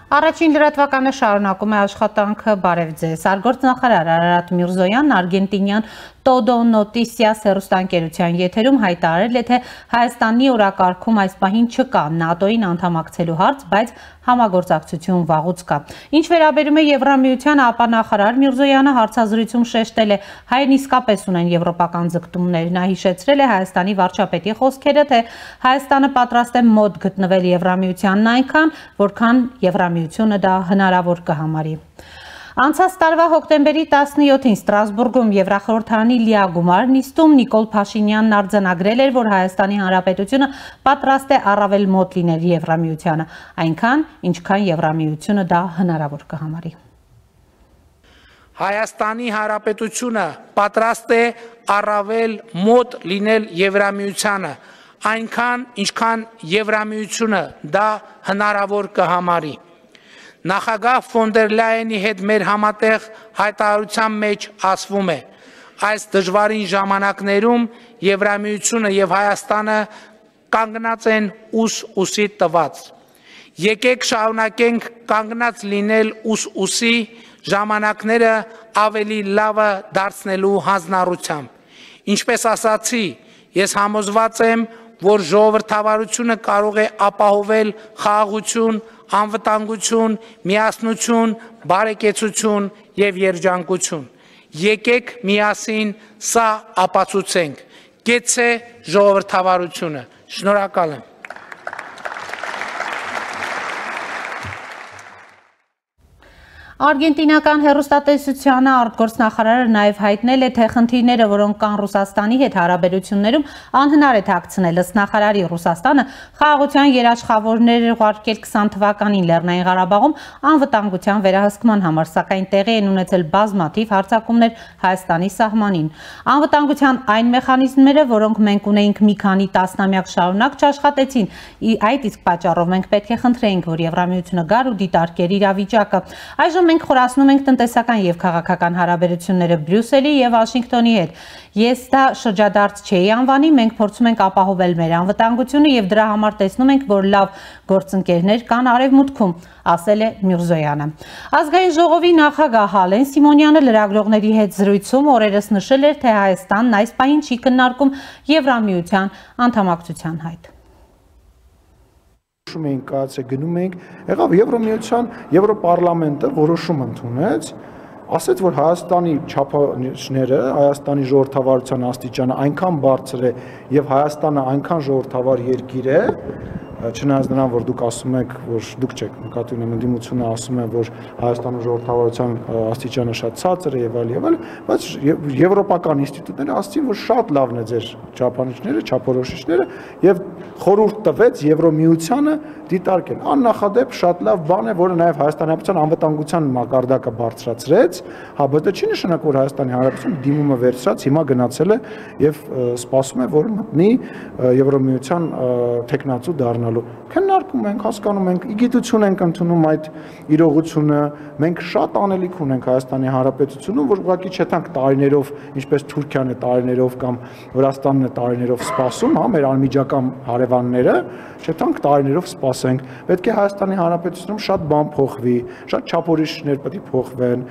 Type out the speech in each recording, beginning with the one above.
Առաջին լրատվականը շարունակում է աշխատանքը բարև ձեզ։ Արտգործնախարար Արարատ Միրզոյանն արգենտինյան Todo Noticias հեռուստաընկերության եթերում հայտարարել է, թե Հայաստանի օրակարգում այս պահին չկա ՆԱՏՕ-ին անդամակցելու հարց, բայց համագործակցություն վաղուց կա։ Ինչ վերաբերում է Եվրամիությանը, ապա նախարար Միրզոյանը հարցազրույցում շեշտել է, հայերն իսկապես ունեն եվրոպական ձգտումներ։ Նա հիշեցրել է Հայաստանի վարչապետի խոսքերը, թե Հայաստանը պատրաստ է մոտ գտնվել Եվրամիությանն այնքան, որքան Եվրամիությունը դա հնարավոր կհամարի։ Անցած տարվա հոկտեմբերի 17-ին Ստրասբուրգում Եվրախորհրդարանի լիագումար նիստում Նիկոլ Փաշինյանն արձանագրել էր, որ Հայաստանի Հանրապետությունը պատրաստ է առավել մոտ լինել Եվրամիությանը, այնքան, ինչքան Եվրամիությունը դա հնարավոր կհամարի։ Հայաստանի Հանրապետությունը պատրաստ է առավել մոտ լինել Եվրամիությանը, այնքան, ինչքան Եվրամիությունը դա հնարավոր կհամարի։ Նախագահ Ֆոն դեր Լայենի հետ մեր համատեղ հայտարարության մեջ ասվում է. այս դժվարին ժամանակներում Եվրամիությունը եւ Հայաստանը կանգնած են ուսի տված։ Եկեք շարունակենք կանգնած լինել ուսի ժամանակները ավելի լավը դարձնելու հանձնառությամբ։ Ինչպես ասացի, ես համոզված եմ, որ ժողովրդավարությունը կարող է ապահովել խաղաղություն, անվտանգություն, միասնություն, բարեկեցություն եւ երջանկություն։ Եկեք միասին սա ապացուցենք։ Գեցե ժողովրդավարությունը։ Շնորհակալ եմ։ Արգենտինական հեռուստատեսությանը արտգործնախարարը նաև հայտնել է, թե խնդիրները, որոնք կան Ռուսաստանի հետ հարաբերություններում, անհնար է թաքցնել։ Ըստ նախարարի Ռուսաստանը խաղաղության երաշխավորներ ուղարկել 20 թվականին Լեռնային Ղարաբաղում անվտանգության վերահսկման համար, սակայն տեղի են ունեցել բազմաթիվ հարձակումներ Հայաստանի սահմանին։ Անվտանգության այն մեխանիզմները, որոնք մենք ունեինք մի քանի տասնամյակ շարունակ, չաշխատեցին։ Այդ իսկ պատճառով մենք պետք է խնդրեինք, որ Եվրամիությունը գար ու դիտարկեր իրավիճակը։ Այժմ մենք խորացնում ենք տնտեսական եւ քաղաքական հարաբերությունները Բրյուսելի եւ Վաշինգտոնի հետ։ Ես դա շրջադարձ չէի անվանի, մենք փորձում ենք ապահովել մեր անվտանգությունը եւ դրա համար տեսնում ենք, որ լավ գործընկերներ կան արևմուտքում, ասել է Միրզոյանը։ Ազգային ժողովի նախագահ Հալեն Սիմոնյանը լրագրողների հետ զրույցում օրերս նշել էր, թե Հայաստանն այս պահին չի քննարկում Եվրամիության անդամակցության հայտ։ Մենք կայացե գնում ենք, եղավ Եվրոմիության Եվրոպարլամենտը որոշում ընդունեց, ասեց, որ Հայաստանի չափանիշները, Հայաստանի ժողովրդավարության աստիճանը այնքան բարձր է եւ Հայաստանը այնքան ժողովրդավար երկիր է, չնայած նրան, որ դուք ասում եք, որ դուք չեք նկատի ունեմ ընդդիմությունը ասում է, որ Հայաստանում ժողովրդավարության աստիճանը շատ ցածր է եւ այլ, բայց եվրոպական ինստիտուտները ասացին, որ շատ լավն է ձեր չափանիշները, չափորոշիչները եւ խորհուրդ տվեց Եվրոմիությանը դիտարկել։ Աննախադեպ շատ լավ բան է, որը նաեւ Հայաստանի Հանրապետության անվտանգության մակարդակը բարձրացրեց, հա, բայց չի նշանակում, որ Հայաստանի Հանրապետությունը դիմումը վերցրած հիմա գնացել է եւ սպասում է, որ մտնի Եվրոմիության տեխնացու դառնալու։ Քննարկում ենք, հասկանում ենք, իգիտություն ենք ընդունում այդ իրողությունը, մենք շատ անելիք ունենք Հայաստանի Հանրապետությունում, որ ուղղակի չթանք տարիներով, ինչպես Թուրքիան է տարիներով կամ Վրաստանն է տարիներով սպասում, հա, մեր անմիջական հարևանները, չթանք տարիներով սպասենք։ Պետք է Հայաստանի Հանրապետությունում շատ բան փոխվի, շատ չափորոշիչներ պետք է փոխվեն։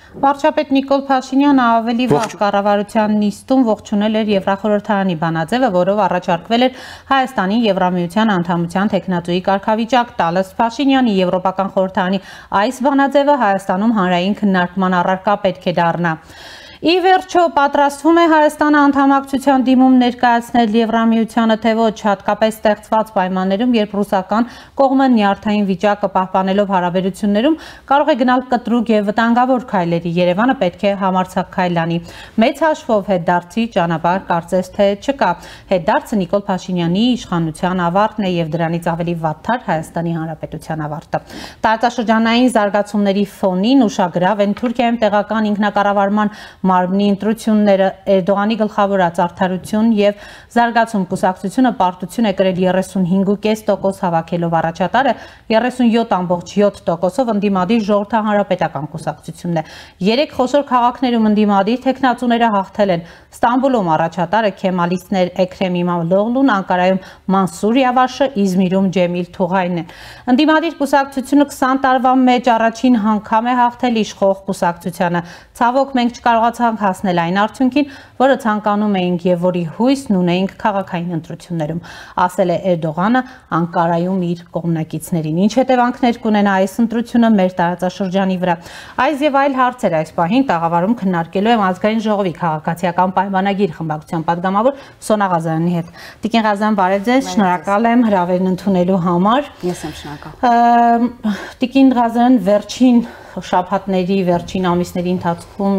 Վարչապետ Նիկոլ Փաշինյանը ավելի վաղ կառավարության նիստում ողջունել էր Եվրախորհրդարանի բանաձևը, որով առաջարկվել էր Հայաստանի Եվրամիության անդամության տեխնատուի կարգավիճակ տալ։ Ըստ Փաշինյանի Եվրոպական խորհրդարանի այս բանաձևը Հայաստանում հանրային քննարկման առարկա պետք է դառնա։ Ի վերջո պատրաստվում է Հայաստանը անդամակցության դիմում ներկայացնել Եվրամիությանը, թե ոչ, հատկապես ստեղծված պայմաններում, երբ ռուսական կողմը նյարդային վիճակը պահպանելով հարաբերություններում կարող է գնալ կտրուկ եւ վտանգավոր քայլերի։ Երևանը պետք է համարձակ քայլ անի։ Մեծ հաշվով հետդարձի ճանապարհ կարծես թե չկա։ Հետդարձը Նիկոլ Փաշինյանի իշխանության ավարտն է եւ դրանից ավելի վատթար Հայաստանի Հանրապետության ավարտը։ Տարածաշրջանային զարգացումների ֆոնին ուշագրավ են Թուրքիայում տեղական ինքնակառավարման մարմնի ընտրությունները, Էրդողանի գլխավորած Արդարություն եւ Զարգացում կուսակցությունը պարտություն է կրել 35.5% հավաքելով առաջատարը 37.7%-ով ընդդիմադիր Ժողովրդահանրապետական կուսակցությունն է։ 3 խոշոր քաղաքներում ընդդիմադիր թեկնածուները հաղթել են Ստամբուլում առաջատարը Քեմալիստներ Էքրեմ Իմամօղլուն, Անկարայում Մանսուր Յավաշը, Իզմիրում Ջեմիլ Թուղայնն է։ Ընդդիմադիր կուսակցությունը 20 տարվա մեջ առաջին անգամ է հաղթել իշխող կուսակցությանը։ Ցավոք մենք չկարողացանք հասնել այն արդյունքին, որը ցանկանում էինք եւ որի հույսն ունեինք քաղաքային ընտրություններում, ասել է Էրդողանը Անկարայում իր կողմնակիցներին։ Ինչ հետևանքներ կունենա այս ընտրությունը մեր տարածաշրջանի վրա։ Այս եւ այլ հարցեր այս պահին տաղավարում քննարկելու եմ Ազգային ժողովի քաղաքացիական պայմանագիր խմբակցության պատգամավոր Սոնա Ղազարյանի հետ։ Տիկին Ղազարյան, բարև ձեզ, շնորհակալ եմ հրավերն ընդունելու համար։ Ես եմ շնորհակալ։ Տիկին Ղազարյան, վերջին շաբաթների, վերջին ամիսների ընթացքում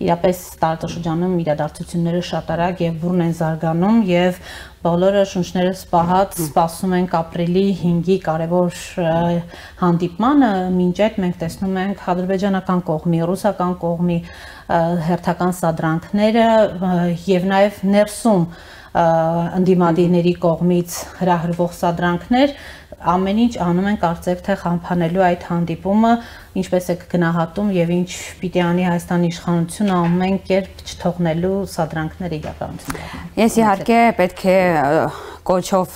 իրապես տարածաշրջանում իրադարձությունները շատ արագ եւ բուռն են զարգանում եւ բոլորը շունչները սպահած սպասում ենք ապրիլի 5-ի կարևոր հանդիպմանը, մինչ այդ մենք տեսնում ենք ադրբեջանական կողմի, ռուսական կողմի հերթական սադրանքները եւ նաեւ ներսում ընդդիմադիրների կողմից հրահրվող սադրանքներ, ամեն ինչ անում են կարծեք թե խամփանելու այդ հանդիպումը, ինչպես է գնահատում եւ ինչ պիտի անի Հայաստանի իշխանությունը ամեն կերպ չթողնելու սադրանքները իրականություն դառնան։ Ես իհարկե պետք է կոչով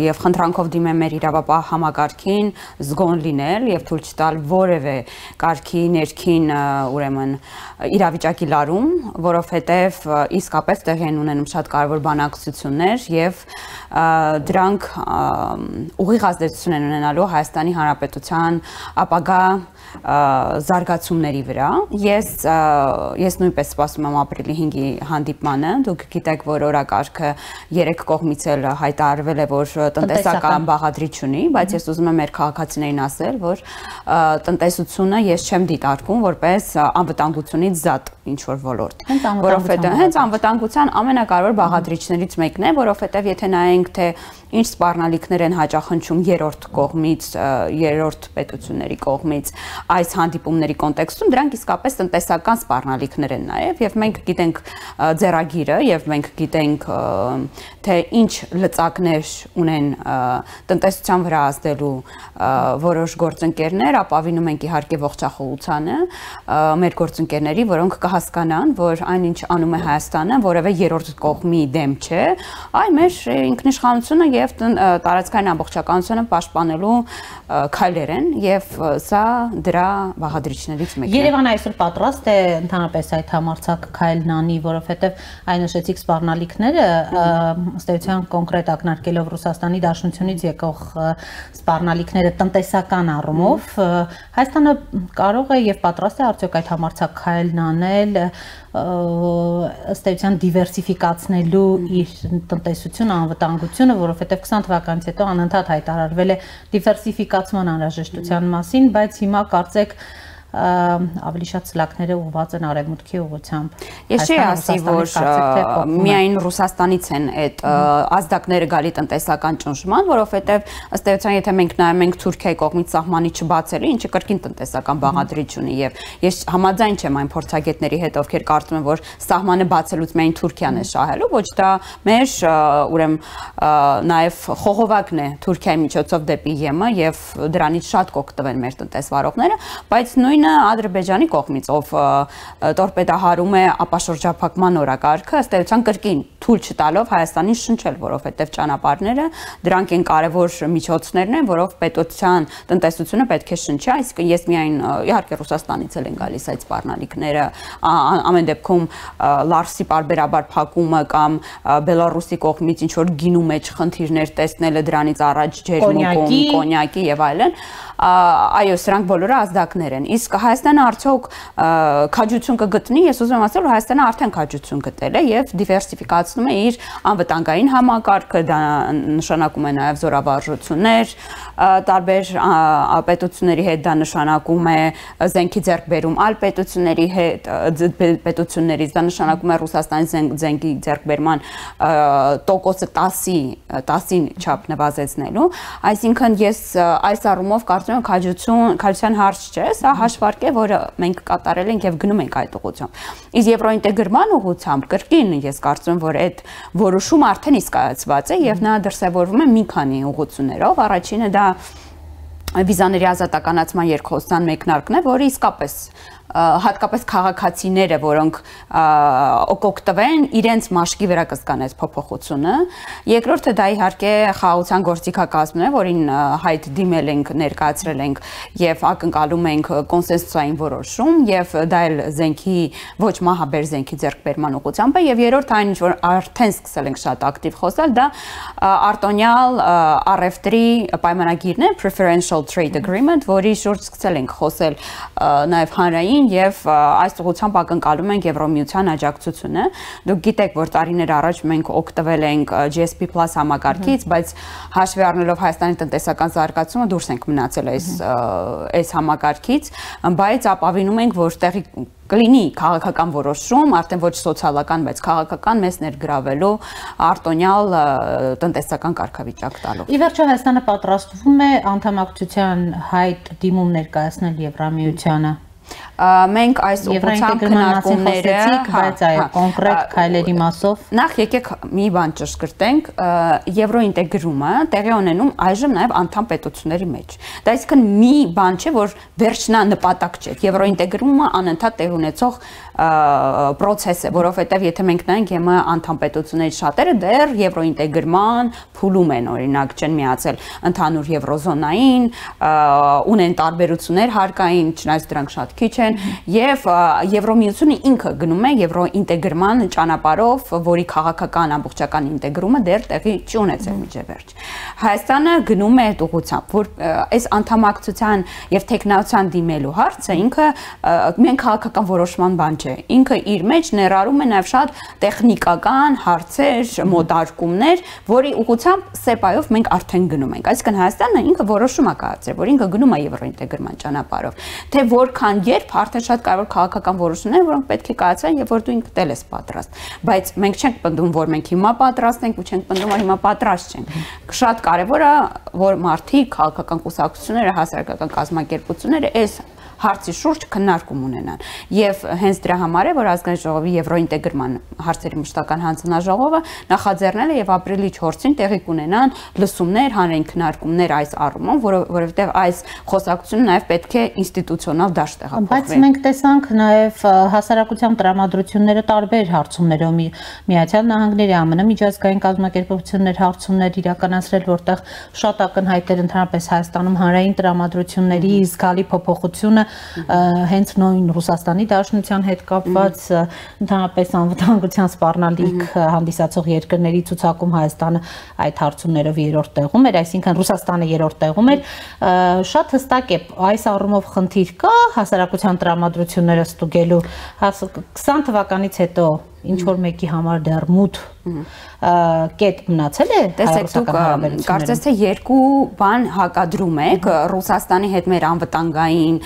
եւ խնդրանքով դիմեմ մեր իրավապահ համակարգին զգոն լինել եւ թույլ չտալ որևէ կարգի ներքին ուրեմն իրավիճակի լարում, որովհետեւ իսկապես տեղի են ունենում շատ կարեւոր բանակցություններ եւ դրանք ուղիղ ազդեցություն են ունենալու Հայաստանի Հանրապետության ապագա զարգացումների վրա։ Ես նույնպես սպասում եմ ապրիլի 5-ի հանդիպմանը։ Դուք գիտեք, որ օրակարգը 3 կողմից էլ հայտարարվել է, որ տնտեսական բաղադրիչ ունի, բայց ես ուզում եմ մեր քաղաքացիներին ասել, որ տնտեսությունը ես չեմ դիտարկում որպես անվտանգությունից զատ ինչ-որ ոլորտ, որովհետև հենց անվտանգության ամենակարևոր բաղադրիչներից մեկն է, որովհետև եթե նայենք, թե ինչ սպառնալիքներ են հաճախնչում երրորդ կողմից, երրորդ պետությունների կողմից այս հանդիպումների կոնտեքստում, դրանք իսկապես տնտեսական սպառնալիքներ են նաև, եւ մենք գիտենք ձեռագիրը եւ մենք գիտենք թե ինչ լծակներ ունեն տնտեսության վրա ազդելու որոշ գործընկերներ, ապավինում ենք իհարկե ողջախոհությանը մեր գործընկերների, որոնք կհասկանան, որ այնինչ անում է Հայաստանը, որևէ երրորդ կողմի դեմ չէ, այլ մեր ինքնիշխանությունը եւ տարածքային ամբողջականությունը պաշտպանելու քայլեր են եւ սա դրա բաղադրիչներից մեկն է։ Երևանը այսօր պատրաստ է ընդհանրապես այդ համարձակ քայլն անի, որովհետեւ այն նշեցիք սպառնալիքները, ըստ էության կոնկրետ ակնարկելով Ռուսաստանի Դաշնությունից եկող սպառնալիքները տնտեսական առումով, Հայաստանը կարող է եւ պատրաստ է արդյոք այդ համարձակ քայլն անել, ըստ էության դիվերսիֆիկացնելու իր տնտեսությունը, անվտանգությունը, որովհետև 20 թվականից հետո անընդհատ հայտարարվել է դիվերսիֆիկացման անհրաժեշտության մասին, բայց հիմա կարծեք ավելի շատ սլաքները ուղղված են արևմուտքի ուղղությամբ։ Ես չի ասի, որ միայն Ռուսաստանից են այդ ազդակները գալի տնտեսական ճնշման, որովհետև ըստ էության եթե մենք նայում ենք Թուրքիայի կողմից սահմանի չբացելը, ինչը կրկին տնտեսական բաղադրիչ ունի եւ ես համաձայն չեմ այն փորձագետների հետ, ովքեր կարծում են, որ սահմանը բացելուց միայն Թուրքիան է շահելու, ոչ դա մեր ուրեմն նաեւ խողովակն է Թուրքիայի միջոցով դեպի ԵՄ եւ դրանից շատ կօգտվեն մեր տնտեսվարողները, բայց նույն Ադրբեջանի կողմից, ով տորպեդահարում է ապաշրջափակման օրակարգը, ըստ էության կրկին թույլ չտալով Հայաստանին շնչել, որովհետև ճանապարհները դրանք են կարևոր միջոցներն են, որով պետության տնտեսությունը պետք է շնչի, այսինքն ես միայն իհարկե Ռուսաստանից էլ են գալիս այդ սպառնալիքները, ամեն դեպքում Լարսի պարբերաբար փակումը կամ Բելարուսի կողմից ինչ որ գինու մեջ խնդիրներ տեսնելը, դրանից առաջ ջերմուկում, կոնյակի եւ այլն, այո, սրանք բոլորը ազդակներ են։ Իսկ Հայաստանը արդյոք քաջություն կգտնի, ես ուզում եմ ասել, որ Հայաստանը արդեն քաջություն գտել է եւ դիվերսիֆիկացնում է իր անվտանգային համակարգը, դա նշանակում է նաեւ զորավարժություններ, տարբեր պետությունների հետ դա նշանակում է զենքի ձեռքբերում այլ պետությունների հետ, պետություններից, դա նշանակում է Ռուսաստանի զենքի ձեռքբերման տոկոսը 10-ին չափ նվազեցնելու, այսինքն ես այս առումով կարծում եմ քաջության հարց չէ, սա հաշվի հաշվարկ է, որը մենք կատարել ենք եւ գնում ենք այդ ուղղությամբ։ Իսկ եվրոինտեգրման ուղղությամբ կրկին ես կարծում եմ, որ այդ որոշումը արդեն իսկայացված է եւ նա դրսեւորվում է մի քանի ուղղություններով։ Առաջինը դա վիզաների ազատականացման երկխոսության մեկնարկն է, որը իսկապես հատկապես քաղաքացիները, որոնք օգտվեն իրենց մաշկի վրա կսկանեց փոփոխությունը։ Երկրորդը դա իհարկե խաղաղության գործիքակազմն է, որին հայտ դիմել ենք, ներկայացրել ենք եւ ակնկալում ենք կոնսենսուսային որոշում եւ դա էլ զենքի ոչ մահաբեր զենքի ձեռքբերման ուղղությամբ է եւ երրորդ այն ինչ որ արդեն սկսել ենք շատ ակտիվ խոսալ, դա արտոնյալ առևտրի պայմանագիրն է, Preferential Trade Agreement, որի շուրջ սկսել ենք խոսել նաեւ հանրային եւ այս ուղղությամբ ակնկալում ենք Եվրոմիության աջակցությունը։ Դուք գիտեք, որ տարիներ առաջ մենք օգտվել ենք GSP+ համակարգից, բայց հաշվի առնելով Հայաստանի տնտեսական զարգացումը դուրս ենք մնացել այս համակարգից, բայց ապավինում ենք, որ տեղի կլինի քաղաքական որոշում, արդեն ոչ սոցիալական, բայց քաղաքական մեզ ներգրավելու արտոնյալ տնտեսական կարգավիճակ տալու։ Ի վերջո Հայաստանը պատրաստվում է անդամակցության հայտ դիմում ներկայացնել Եվրամիությանը։ Մենք այս ուղղությամբ քննարկումները, բայց այո, կոնկրետ քայլերի մասով նախ եկեք մի բան ճշգրտենք, եվրոինտեգրումը տեղի ունենում այժմ նաև անդամ պետությունների մեջ։ Դա այսինքն մի բան չէ, որ վերջնանպատակ չէ։ Եվրոինտեգրումը անընդհատ տեղ ունեցող process է, որովհետև եթե մենք նայենք ԵՄ անդամ պետությունների շատերը դեռ եվրոինտեգրման փուլում են, օրինակ չեն միացել ընդհանուր եվրոզոնային, ունեն տարբերություններ հարկային, չնայած դրանք շատ քիչ են, եւ Եվրոմիությունը ինքը գնում է եվրոինտեգրման ճանապարհով, որի քաղաքական ամբողջական ինտեգրումը դեռ տեղի չի ունեցել միջևերջ։ Հայաստանը գնում է այդ ուղղությամբ, որ այս անդամակցության եւ տեխնացիան դիմելու հարցը ինքը միայն քաղաքական որոշման բան չէ։ Ինքը իր մեջ ներառում է նաեւ շատ տեխնիկական հարցեր, մոտարկումներ, որի ուղղությամբ սեպայով մենք արդեն գնում ենք։ Այսինքն Հայաստանը ինքը որոշում է կայացրել, որ ինքը գնում է եվրոինտեգրման ճանապարհով, թե որքան երբ արդեն շատ կարևոր քաղաքական որոշումներ, որոնք պետք է կայացվեն եւ որ դու ինքդ էլ ես պատրաստ։ Բայց մենք չենք պնդում, որ մենք հիմա պատրաստ ենք ու չենք պնդում, որ հիմա պատրաստ չենք։ Շատ կարևոր է, որ մարդիկ, քաղաքական կուսակցությունները, հասարակական կազմակերպությունները այս հարցի շուրջ քննարկում ունենան։ Եվ հենց դրա համար է, որ ազգային ժողովի եվրոինտեգրման հարցերի մշտական հանձնաժողովը նախաձեռնել է եւ ապրիլի 4-ին տեղի կունենան լսումներ, հանրային քննարկումներ այս առումով, որովհետեւ այս խոսակցությունը նաեւ պետք է ինստիտուցիոնալ դաշտ տեղափոխվի։ Բայց մենք տեսանք նաեւ հասարակության տրամադրությունները տարբեր հարցումներով Միացյալ Նահանգների ԱՄՆ միջազգային կազմակերպություններ հարցումներ իրականացրել, որտեղ շատ ակնհայտ էր ընդհանրապես Հայաստանում հանրային տրամադրությունների զգալի փոփոխությունը հենց նույն Ռուսաստանի Դաշնության հետ կապված ընդհանրապես անվտանգության սպառնալիք հանդիսացող երկրների ցուցակում Հայաստանը այդ հարցումներով երրորդ տեղում էր, այսինքն Ռուսաստանը երրորդ տեղում էր, շատ հստակ է այս առումով խնդիր կա հասարակության տրամադրությունները ստուգելու 20 թվականից հետո ինչ որ մեկի համար դեռ մութ կետ մնացել է հայ-ռուսական հարաբերություններում։ Կարծես թե երկու բան հակադրում եք Ռուսաստանի հետ մեր անվտանգային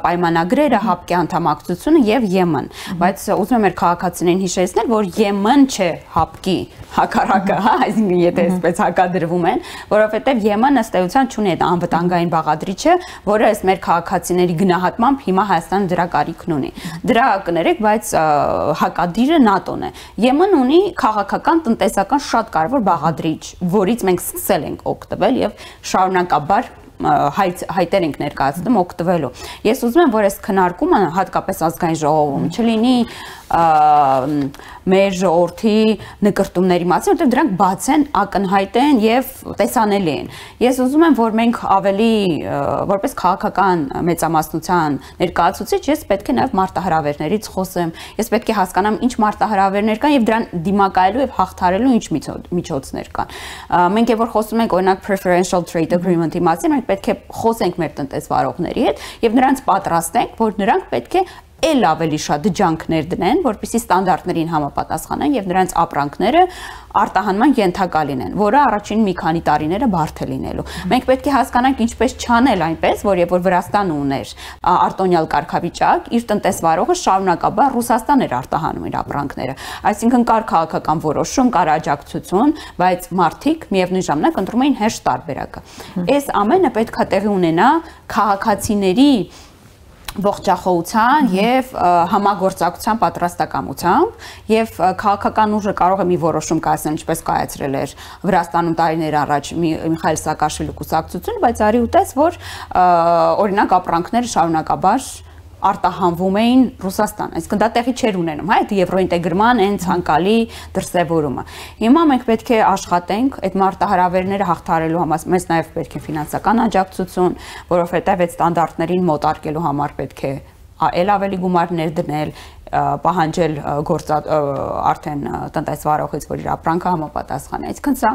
պայմանագրերը, հապկի անդամակցությունը եւ ԵՄ-ն, բայց ուզում եմ մեր քաղաքացիներին հիշեցնել, որ ԵՄ-ն չէ հապկի հակառակը, հա, այսինքն եթե այսպես հակադրվում են, որովհետեւ ԵՄ-ն ըստ էության չունի այդ անվտանգային բաղադրիչը, որը ըստ մեր քաղաքացիների գնահատմամբ հիմա Հայաստանը դրա կարիքն ունի։ Դրա կներեք, բայց հակադիրը ՆԱՏՕ-ն է։ ԵՄ-ն ունի քաղաքական, տնտեսական շատ կարևոր բաղադրիչ, որից մենք սկսել ենք օգտվել եւ շարունակաբար հայտեր ենք ներկայացնում օգտվելու։ Ես ուզում եմ, որ այս քննարկումը հատկապես ազգային ժողովում չլինի մեր ժողովրդի նկրտումների մասին, որտեղ դրանք բաց են, ակնհայտ են եւ տեսանելի են։ Ես ուզում եմ, որ մենք ավելի որպես քաղաքական մեծամասնության ներկայացուցիչ, ես պետք է նաեւ մարտահրավերներից խոսեմ։ Ես պետք է հասկանամ ինչ մարտահրավերներ կան եւ դրան դիմակայելու եւ հաղթարելու ինչ միջոցներ կան։ Մենք երբ որ խոսում ենք օրինակ Preferential Trade Agreement-ի մասին, մենք պետք է խոսենք մեր տնտեսվարողների հետ եւ նրանց պատրաստենք, որ նրանք պետք է էլ ավելի շատ ջանքներ դնեն, որպեսզի ստանդարտներին համապատասխանեն եւ նրանց ապրանքները արտահանման ենթակա լինեն, որը առաջին մի քանի տարիները բարդ է լինելու։ Մենք պետք է հասկանանք ինչպես չանել այնպես, որ երբ որ Վրաստանը ուներ արտոնյալ կարգավիճակ, իր տնտեսվարողը շարունակաբար Ռուսաստան էր արտահանում իր ապրանքները։ Այսինքն կար քաղաքական որոշում, կար աջակցություն, բայց մարդիկ միևնույն ժամանակ ընտրում էին հեշտ տարբերակը։ Այս ամենը պետք է տեղի ունենա քաղաքացիների ողջախոհության եւ համագործակցության պատրաստակամությամբ եւ քաղաքական ուժը կարող է մի որոշում կայացնել, ինչպես կայացրել էր Վրաստանում տարիներ առաջ Միխայել Սաակաշվիլի կուսակցությունը, բայց արի ուտես, որ օրինակ ապրանքները շարունակաբար արտահանվում էին Ռուսաստան, այսինքն դա տեղի չէր ունենում, հա, այդ եվրոինտեգրման այն ցանկալի դրսևորումը։ Հիմա մենք պետք է աշխատենք այդ մարտահրավերները հաղթահարելու համար, մեզ նաև պետք է ֆինանսական աջակցություն, որովհետև այդ ստանդարտներին մոտարկելու համար պետք է էլ ավելի գումարներ դնել, պահանջել արդեն տնտեսվարողից, որ իր ապրանքը համապատասխանի։ Այսինքն սա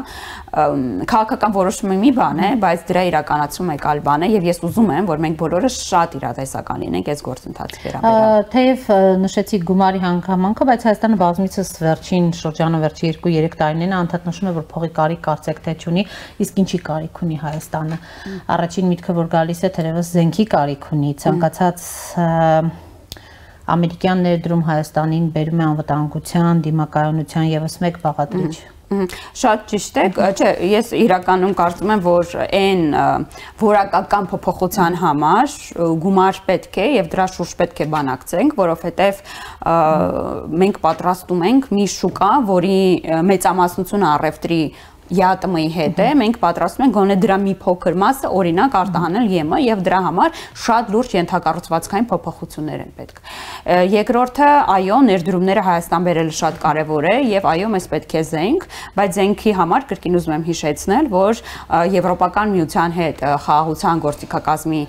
քաղաքական որոշումը մի բան է, բայց դրա իրականացումը այլ բան է, եւ ես ուզում եմ, որ մենք բոլորը շատ իրատեսական լինենք այս գործընթացի վերաբերյալ։ Թեև նշեցիք գումարի հանգամանքը, բայց Հայաստանը բազմիցս վերջին շրջանը վերջի 2-3 տարիներին անդադ նշում է, որ փողի կարիք կարծեք թե չունի, իսկ ինչի կարիք ունի Հայաստանը։ Առաջին միտքը, որ գալիս է, թերևս զենքի կարիք ունի, ցանկացած ամերիկյան ներդրում Հայաստանին բերում է անվտանգության, դիմակայունության եւս մեկ բաղադրիչ։ Շատ ճիշտ է, չէ, ես իրականում կարծում եմ, որ այն որակական փոփոխության համար գումար պետք է եւ դրա շուրջ պետք է բանակցենք, որովհետեւ մենք պատրաստում ենք մի շուկա, որի մեծամասնությունը առևտրի ԵԱՏՄ-ի հետ է, մենք պատրաստում ենք գոնե դրա մի փոքր մասը օրինակ արտահանել ԵՄ եւ դրա համար շատ լուրջ ենթակառուցվածքային փոփոխություններ են պետք։ Երկրորդը, այո, ներդրումները Հայաստան բերելը շատ կարեւոր է եւ այո, մեզ պետք է զենք, բայց զենքի համար կրկին ուզում եմ հիշեցնել, որ Եվրոպական միության հետ խաղաղության գործիքակազմի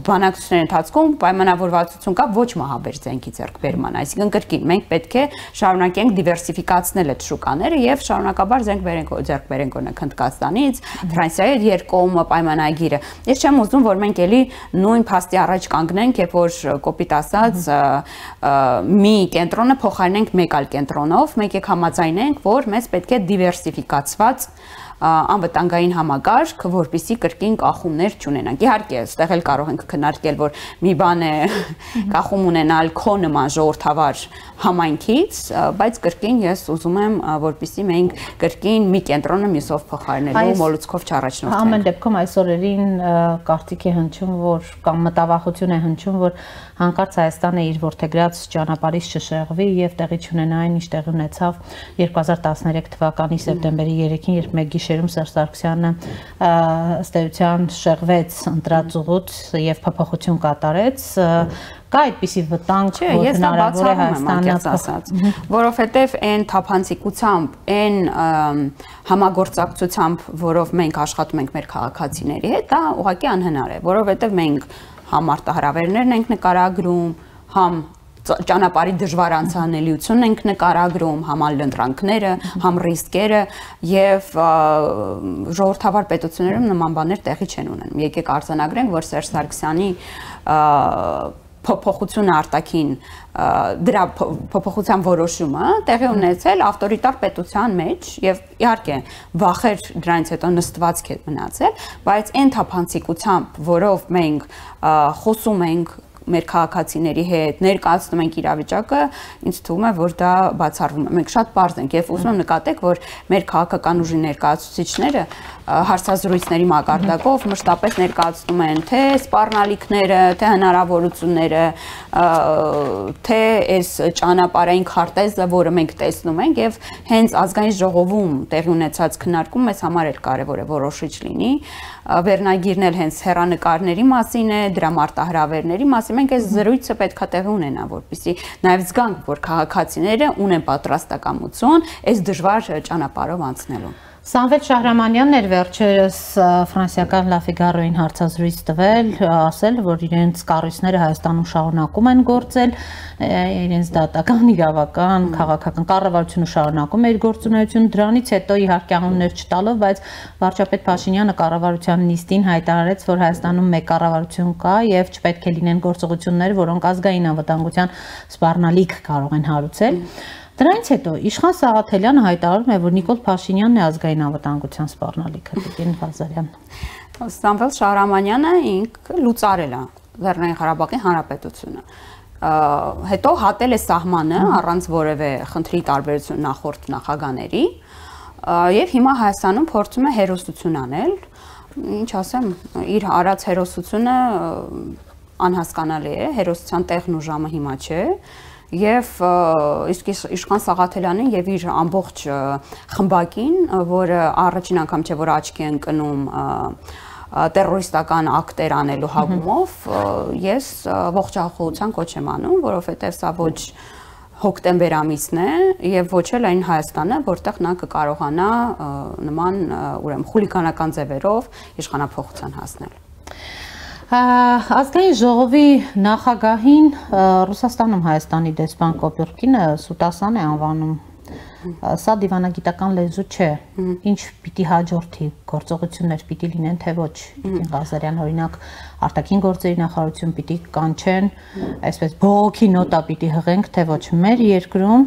բանակցությունների ընթացքում պայմանավորվածություն կա ոչ մահաբեր զենքի ձեռքբերման, այսինքն կրկին մենք պետք է շարունակենք դիվերսիֆիկացնել այդ շուկաները եւ շարունակաբար զենք ձեռք բերենք օրինակ Հնդկաստանից, Ֆրանսիայի երկկողմ պայմանագիրը։ Ես չեմ ուզում, որ մենք էլի նույն փաստի առաջ կանգնենք, երբ որ կոպիտ ասած մի կենտրոնը փոխարինենք մեկ այլ կենտրոնով, մենք եք համաձայնենք, որ մեզ պետք է դիվերսիֆիկացված անվտանգային համակարգ, որպեսզի կրկին կախումներ չունենանք։ Իհարկե, այստեղ էլ կարող ենք քննարկել, որ մի բան է կախում ունենալ քո նման ժողովրդավար համայնքից, բայց կրկին ես ուզում եմ, որպեսզի մենք կրկին մի կենտրոնը մյուսով փոխարինելու մոլուցքով չառաջնորդենք։ Ամեն դեպքում այս օրերին կարծիք է հնչում, որ կամ մտավախություն է հնչում, որ հանկարծ Հայաստանը իր որդեգրած ճանապարհից չշեղվի եւ տեղի չունենա այն, ինչ տեղի ունեցավ 2013 թվականի սեպտեմբերի 3-ին, երբ մեկ գիշերում Սերժ Սարգսյանը ըստ էության շեղվեց ընտրածուղուց եւ փոփոխություն կատարեց։ Կա այդպիսի վտանգ, որ հնարավոր է Հայաստանը ասած, որովհետև այն թափանցիկությամբ, այն համագործակցությամբ, որով մենք աշխատում ենք մեր քաղաքացիների հետ, դա ուղղակի անհնար է, որովհետև մենք համ արտահրավերներն ենք նկարագրում, համ ճանապարհի դժվար անցանելիությունն ենք նկարագրում, համ լնդրանքները, համ ռիսկերը եւ ժողովրդավար պետություններում նման բաներ տեղի չեն ունենում։ Եկեք արձանագրենք, որ Սերժ Սարգսյանի փոփոխությունը արտաքին դրա փոփոխության որոշումը տեղի ունեցել ավտորիտար պետության մեջ եւ իհարկե վախեր դրանից հետո նստված է մնացել, բայց այն թափանցիկությամբ, որով մենք խոսում ենք մեր քաղաքացիների հետ, ներկայացնում ենք իրավիճակը, ինձ թվում է, որ դա բացառվում է։ Մենք շատ պարզ ենք եւ ուզում եմ նկատեք, որ մեր քաղաքական ուժի ներկայացուցիչները հարցազրույցների մակարդակով մշտապես ներկայացնում են թե սպառնալիքները, թե հնարավորությունները, թե այս ճանապարհային քարտեզը, որը մենք տեսնում ենք եւ հենց ազգային ժողովում տեղի ունեցած քննարկում մեզ համար էլ կարեւոր է որոշիչ լինի։ Վերնագիրն էլ հենց հեռանկարների մասին է, դրա մարտահրավերների մասին։ Մենք այս զրույցը պետքա տեղի ունենա, որպեսզի նաև զգանք, որ քաղաքացիները ունեն պատրաստակամություն այս դժվար ճանապարհով անցնելու։ Սամվել Շահրամանյանն էր վերջերս ֆրանսիական La Figaro-ին հարցազրույց տվել, ասել, որ իրենց կառույցները Հայաստանում շարունակում են գործել, իրենց դատական, իրավական, քաղաքական կառավարությունը շարունակում է իր գործունեությունը, դրանից հետո իհարկե անուններ չտալով, բայց վարչապետ Փաշինյանը կառավարության նիստին հայտարարեց, որ Հայաստանում մեկ կառավարություն կա եւ չպետք է լինեն գործողություններ, որոնք ազգային անվտանգության սպառնալիք կարող են հարուցել։ Դրանից հետո Իշխան Սաղաթելյանը հայտարարում է, որ Նիկոլ Փաշինյանն է ազգային անվտանգության սպառնալիքը, Տիկին Ղազարյան։ Սամվել Շահրամանյանը ինքը լուծարել է Լեռնային Ղարաբաղի Հանրապետությունը։ Հետո հատել է սահմանը առանց որևէ խնդրի տարբերություն նախորդ նախագաների եւ հիմա Հայաստանում փորձում է հերոսություն անել, ինչ ասեմ, իր արած հերոսությունը անհասկանալի է, հերոսության տեղն ու ժամը հիմա չէ։ Եվ իսկ Իշխան Սաղաթելյանին եւ իր ամբողջ խմբակին, որը առաջին անգամ չէ որ աչքի են կնում տերորիստական ակտեր անելու հավումով, ես ողջախոհության կոչ եմ անում, որովհետեւ սա ոչ հոկտեմբեր ամիսն է եւ ոչ էլ այն Հայաստանը, որտեղ նա կկարողանա նման ուրեմն խուլիգանական ձևերով իշխանափոխության հասնել։ Ազգային ժողովի նախագահին Ռուսաստանում Հայաստանի դեսպան Կոպյուրկինը Սուտասան է անվանում։ Սա դիվանագիտական լեզու չէ։ Ինչ պիտի հաջորդի, գործողություններ պիտի լինեն, թե ոչ։ Տիկին Ղազարյան օրինակ արտաքին գործերի նախարարություն պիտի կանչեն, այսպես բողոքի նոտա պիտի հղենք, թե ոչ մեր երկրում։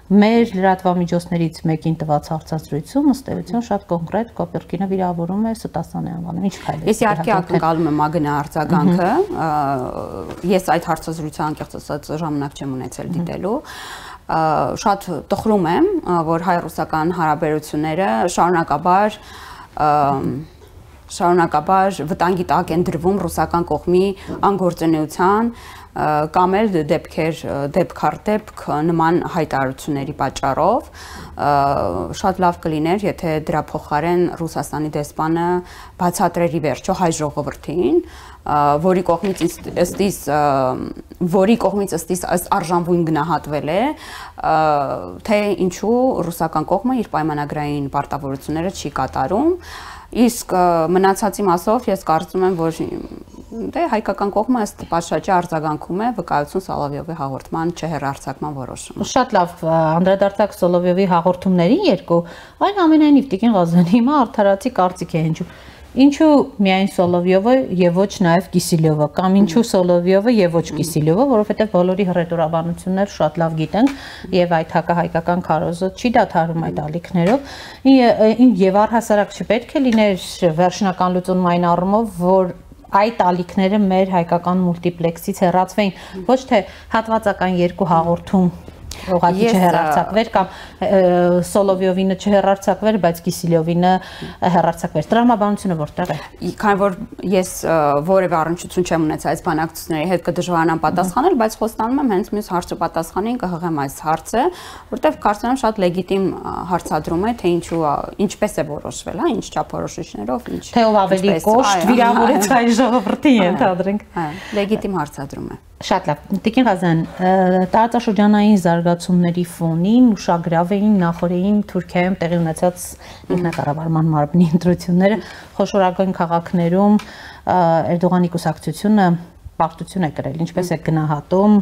Մեր լրատվամիջոցներից մեկին տված հարցազրույցում ըստ էության շատ կոնկրետ Կոպյուրկինը վիրավորում է Սուտասանի անվանում։ Ինչ քայլեր։ Ես իհարկե ակնկալում եմ ագնա արձագանքը։ Ես այդ հարցազրույցը անկեղծ ասած ժամանակ չեմ ունեցել դիտելու։ Շատ տխրում եմ, որ հայ-ռուսական հարաբերությունները շարունակաբար վտանգի տակ են դրվում ռուսական կողմի անգործունեության կամ էլ դեպք առ դեպք նման հայտարարությունների պատճառով շատ լավ կլիներ, եթե դրա փոխարեն Ռուսաստանի դեսպանը բացատրեր ի վերջո հայ ժողովրդին, որի կողմից ըստ արժանվույն գնահատվել է, թե ինչու ռուսական կողմը իր պայմանագրային պարտավորությունները չի կատարում, իսկ մնացածի մասով ես կարծում եմ, որ հայկական կողմը ըստ պատշաճի արձագանքում է վկայություն Սոլովյովի հաղորդման չհեռարձակման որոշումը։ Շատ լավ, անդրադարձակ Սոլովյովի հաղորդումներին երկու, այն ամենայնիվ Տիկին Ղազարյան հիմա արդարացի կարծիք է հնչում։ Ինչու միայն Սոլովյովը եւ ոչ նաեւ Կիսիլյովը, կամ ինչու Սոլովյովը եւ ոչ Կիսիլյովը, որովհետեւ բոլորի հռետորաբանություններ շատ լավ գիտենք եւ այդ հակահայկական քարոզը չի դադարում այդ ալիքներով եւ առհասարակ չպետք է լիներ վերջնական լուծում այն առումով, որ այդ ալիքները մեր հայկական մուլտիպլեքսից հեռացվեին, ոչ թե հատվածական երկու հաղորդում ուղղակի չհեռարձակվեր կամ Սոլովյովինը չհեռարձակվեր, բայց Կիսիլյովինը հեռարձակվեր։ Տրամաբանությունը որտեղ է։ Քանի որ ես որևէ առնչություն չեմ ունեցել այս բանակցությունների հետ կդժվարանամ պատասխանել, բայց խոստանում եմ հենց մյուս հարցը պատասխանին կհղեմ այս հարցը, որտեղ կարծում եմ շատ լեգիտիմ հարցադրում է, թե ինչպես է որոշվել, հա, ինչ չափորոշիչներով, ինչ թե ով ավելի կոշտ վիրավորեց հայ ժողովրդին, ենթադրենք։ Լեգիտիմ հարցադրում է։ Շատ լավ, Տիկին Ղազարյան, տարածաշրջանային զարգացումների ֆոնին ուշագրավ էին նախորդին Թուրքիայում տեղի ունեցած ինքնակառավարման մարմնի ընտրությունները, խոշորագույն քաղաքներում Էրդողանի կուսակցությունը պարտություն է կրել, ինչպես է գնահատում,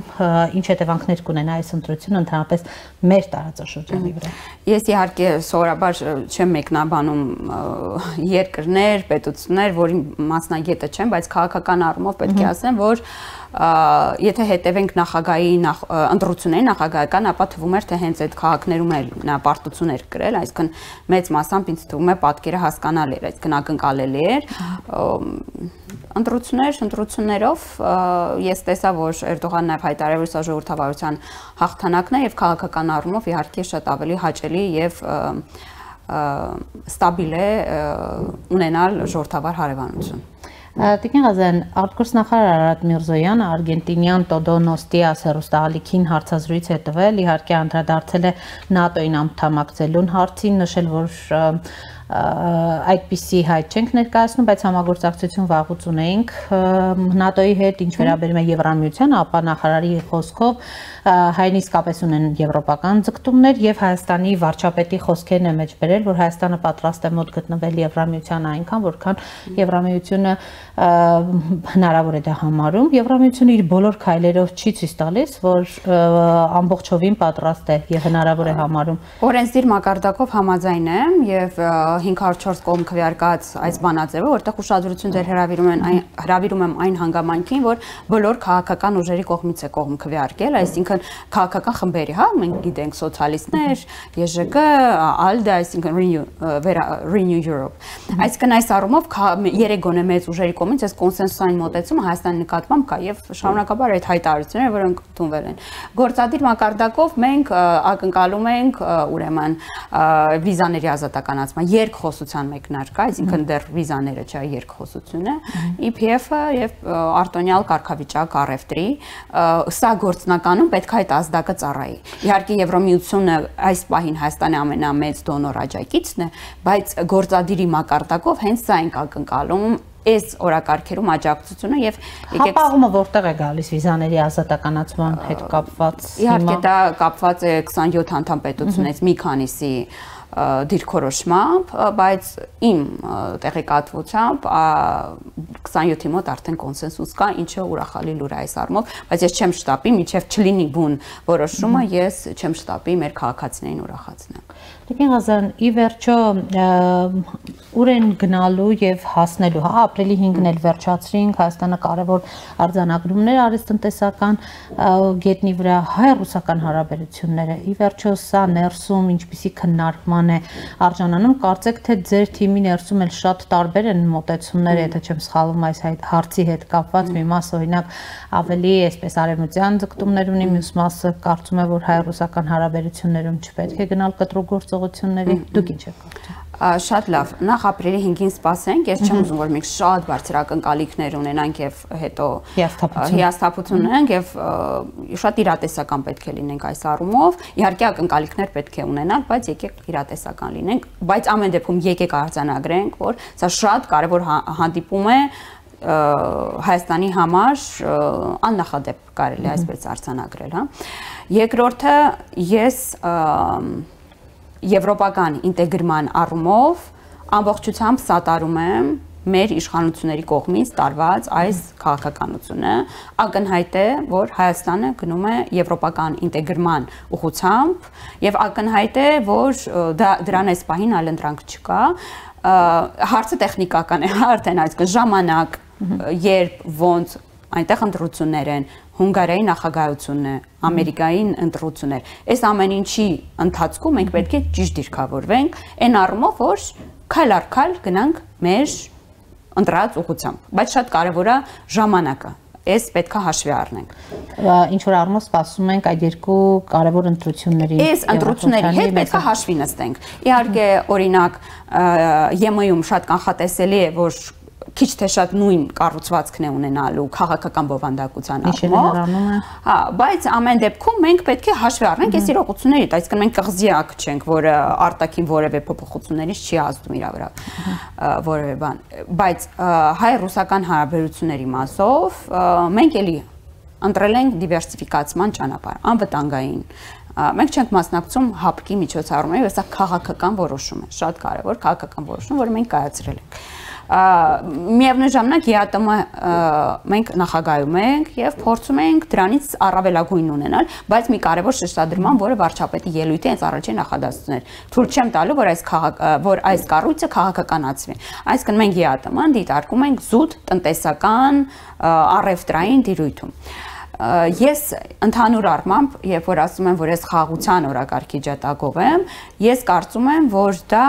ինչ հետևանքներ կունենա այս ընտրությունը ընդհանրապես մեր տարածաշրջանի վրա։ Ես իհարկե սովորաբար չեմ մեկնաբանում երկրներ, պետություններ, որի մասնագետը չեմ, բայց քաղաքական առումով պետք է ասեմ, որ եթե հետևենք նախագահի ընտրությունների նախագահական, ապա թվում էր, թե հենց այդ քաղաքներում էլ նա պարտություն էր կրել, այսինքն մեծ մասամբ ինձ թվում է պատկերը հասկանալի էր, այսինքն ակնկալելի էր։ Ընտրություններով ես տեսա, որ Էրդողանն նաև հայտարարել է սա ժողովրդավարության հաղթանակն է եւ քաղաքական առումով իհարկե շատ ավելի հաճելի եւ ստաբիլ է ունենալ ժողովրդավար հարևանություն։ Տիկին Ղազարյան, արտգործնախարար Արարատ Միրզոյանը արգենտինյան Տոդո Նոստիաս հեռուստաալիքին հարցազրույց է տվել, իհարկե անդրադարձել է ՆԱՏՕ-ին անդամակցելուն հարցին, նշել, որ այդպիսի հայտ չենք ներկայացնում, բայց համագործակցություն վաղուց ունեինք ՆԱՏՕ-ի հետ, ինչ վերաբերում է Եվրամիությանը, ապա նախարարի խոսքով հայերն իսկապես ունեն եվրոպական ձգտումներ եւ Հայաստանի վարչապետի խոսքերն է մեջ բերել, որ Հայաստանը պատրաստ է մոտ գտնվել Եվրամիությանը այնքան, որքան Եվրամիությունը հնարավոր է դա համարում։ Եվրամիությունը իր բոլոր քայլերով չի ցույց տալիս, որ ամբողջովին պատրաստ է եւ հնարավոր է համարում։ Օրենսդիր մակարդակով համաձայն եմ եւ 504 կողմ քվեարկած այս բանաձևը, որտեղ ուշադրություն դեր հրավիրում եմ այն հանգամանքին, որ բոլոր քաղաքական ուժերի կողմից է կողմ քվեարկել, այսինքն քաղաքական խմբերի, հա, մենք գիտենք սոցիալիստներ, ԵԺԿ, ALDE, այսինքն Renew Europe։ Այսինքն այս առումով երեք գոնե մեծ ուժերի կողմից այս կոնսենսուսային մոտեցումը Հայաստանի նկատմամբ կա եւ շարունակաբար այդ հայտարարությունները, որոնք ընդունվել են։ Գործադիր մակարդակով մենք ակնկալում ենք ուրեմն վիզաների ազատականացման երկխոսության մեկնարկը, այսինքն դեռ վիզաները չէ, երկխոսություն է, EPF-ը եւ արտոնյալ կարգավիճակ առևտրի, սա գործնականում պետք է այդ ազդակը ծառայի։ Իհարկե Եվրոմիությունը այս պահին Հայաստանի ամենամեծ դոնոր աջակիցն է, բայց գործադիրի մակարդակով հենց սա ենք ակնկալում այս օրակարգերում աջակցությունը եւ հապաղումը որտեղ է գալիս վիզաների ազատականացման հետ կապված։ Իհարկե դա կապված է 27 անդամ պետությունից մի քանիսի դիրքորոշմամբ, բայց իմ տեղեկատվությամբ 27-ի մոտ արդեն կոնսենսուս կա, ինչը ուրախալի լուր է այս առումով, բայց ես չեմ շտապի, մինչև չլինի բուն որոշումը, ես չեմ շտապի մեր քաղաքացիներին ուրախացնել։ Տիկին Ղազարյան, ի վերջո ուր են գնալու եւ հասնելու, հա, ապրիլի 5-ն էլ վերջացրինք, Հայաստանը կարևոր արձանագրումներ արեց տնտեսական գետնի վրա, հայ-ռուսական հարաբերությունները, ի վերջո սա ներսում ինչպիսի քննարկման է արժանանում, կարծեք թե ձեր թիմի ներսում էլ շատ տարբեր են մոտեցումները, եթե չեմ սխալվում այս հարցի հետ կապված, մի մասը օրինակ ավելի այսպես արևմտյան ձգտումներ ունի, մյուս մասը կարծում է, որ հայ-ռուսական հարաբերություններում չպետք է գնալ կտրուկ գործողությունների, դուք ինչ եք կարծում։ Շատ լավ, նախ ապրիլի 5-ին սպասենք, ես չեմ ուզում, որ մենք շատ բարձր ակնկալիքներ ունենանք եւ հետո հիասթափություն ունենք եւ շատ իրատեսական պետք է լինենք այս առումով, իհարկե ակնկալիքներ պետք է ունենալ, բայց եկեք իրատեսական լինենք, բայց ամեն դեպքում եկեք արձանագրենք, որ սա շատ կարեւոր հանդիպում է Հայաստանի համար աննախադեպ կարելի այսպես արձանագրել, հա։ Երկրորդը ես եվրոպական ինտեգրման առումով ամբողջությամբ սատարում եմ մեր իշխանությունների կողմից տարված այս քաղաքականությունը, ակնհայտ է, որ Հայաստանը գնում է եվրոպական ինտեգրման ուղղությամբ եւ ակնհայտ է, որ դրան այս պահին այլընտրանք չկա, հարցը տեխնիկական է, արդեն այսինքն ժամանակ, երբ ոնց այնտեղ ընտրություններ են, Հունգարիայի նախագահությունն է, Ամերիկայի ընտրություններ։ Այս ամեն ինչի ընթացքում մենք պետք է ճիշտ դիրքավորվենք, այն առումով, որ քայլ առ քայլ գնանք մեր ընտրած ուղղությամբ, բայց շատ կարևոր է ժամանակը։ Այս պետք է հաշվի առնենք։ Ինչ որ առումով սպասում ենք այդ երկու կարևոր ընտրությունների։ Այս ընտրությունների հետ պետք է հաշվի նստենք։ Իհարկե, օրինակ, ԵՄ-ում շատ կանխատեսելի է, որ քիչ թե շատ նույն կառուցվածքն է ունենալու քաղաքական բովանդակության առումով։ Հա, բայց ամեն դեպքում մենք պետք է հաշվի առնենք այս իրողություններից, այսինքն մենք կղզիակ չենք, որը արտաքին որևէ փոփոխություններից չի ազդում իր վրա որևէ բան, բայց հայ-ռուսական հարաբերությունների մասով մենք էլի ընտրել ենք դիվերսիֆիկացման ճանապարհ, անվտանգային մենք չենք մասնակցում հապկի միջոցառումների, սա քաղաքական որոշում է, շատ կարևոր քաղաքական որոշում, որը մենք կայացրել ենք։ Միևնույն ժամանակ ԵԱՏՄ մենք նախագահում ենք եւ փորձում ենք դրանից առավելագույն ունենալ, բայց մի կարևոր շեշտադրման, որը վարչապետի ելույթի հենց առաջին նախադասություններ։ Թույլ չեմ տալու, որ այս կառույցը քաղաքականացվի։ Այսինքն մենք ԵԱՏՄ-ն դիտարկում ենք զուտ տնտեսական առևտրային դիրույթում։ Ես ընդհանուր առմամբ, երբ որ ասում եմ, որ ես խաղաղության օրակարգի ջատագով եմ, ես կարծում եմ, որ դա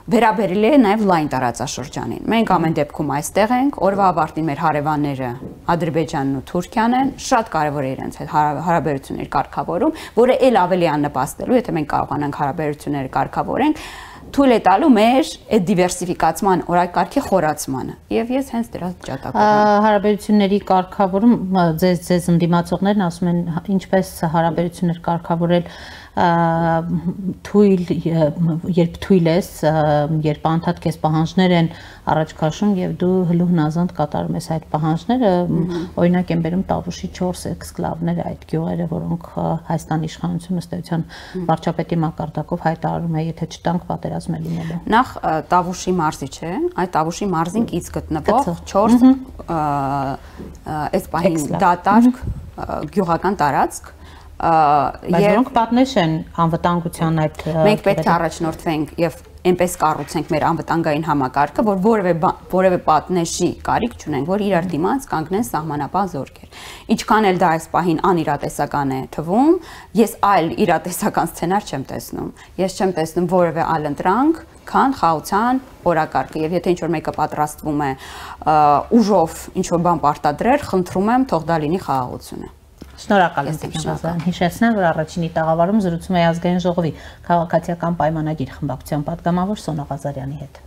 վերաբերել է նաև լայն տարածաշրջանին։ Մենք ամեն դեպքում այստեղ ենք, օրվա ավարտին մեր հարևանները Ադրբեջանն ու Թուրքիան են, շատ կարևոր է իրենց հետ հարաբերություններ կարգավորում, որը ել ավելի աննպաստելու, եթե մենք կարողանանք հարաբերությունները կարգավորենք, թույլ է տալու մեր այդ դիվերսիֆիկացման օրակարգի խորացմանը։ Եվ ես հենց դրա ճատակով եմ։ Հարաբերությունների կարգավորում ձեզ ընդդիմացողներն ասում են ինչպես հարաբերություններ կարգավորել թույլ, երբ թույլ ես, երբ անդադ քեզ պահանջներ են առաջ քաշում եւ դու հլու հնազանդ կատարում ես այդ պահանջները, օրինակ են բերում Տավուշի 4 էքսկլավները, այդ գյուղերը, որոնք Հայաստանի իշխանությունը ըստ էության վարչապետի մակարդակով հայտարարում է, եթե չտանք պատերազմ է լինելու։ Նախ Տավուշի մարզի չէ, այդ Տավուշի մարզին կից գտնվող 4 այս պահին դատարկ գյուղական տարածք Բայց որոնք պատնեշ են անվտանգության այդ մենք պետք է առաջնորդվենք եւ այնպես կառուցենք մեր անվտանգային համակարգը, որ որևէ պատնեշի կարիք չունենք, որ իրար դիմաց կանգնեն սահմանապահ զորքեր։ Ինչքան էլ դա այս պահին անիրատեսական է թվում, ես այլ իրատեսական սցենար չեմ տեսնում։ Ես չեմ տեսնում որևէ այլ ընտրանք, քան խաղաղության օրակարգը, եւ եթե ինչ-որ մեկը պատրաստվում է ուժով ինչ-որ բան պարտադրել, խնդրում եմ թող դա լինի խաղաղությունը։ Շնորհակալ եմ Տիկին Ղազարյան։ Հիշեցնեմ, որ առաջինի տաղավարում զրուցում է ազգային ժողովի քաղաքացիական պայմանագիր խմբակցության պատգամավոր Սոնա Ղազարյանի հետ։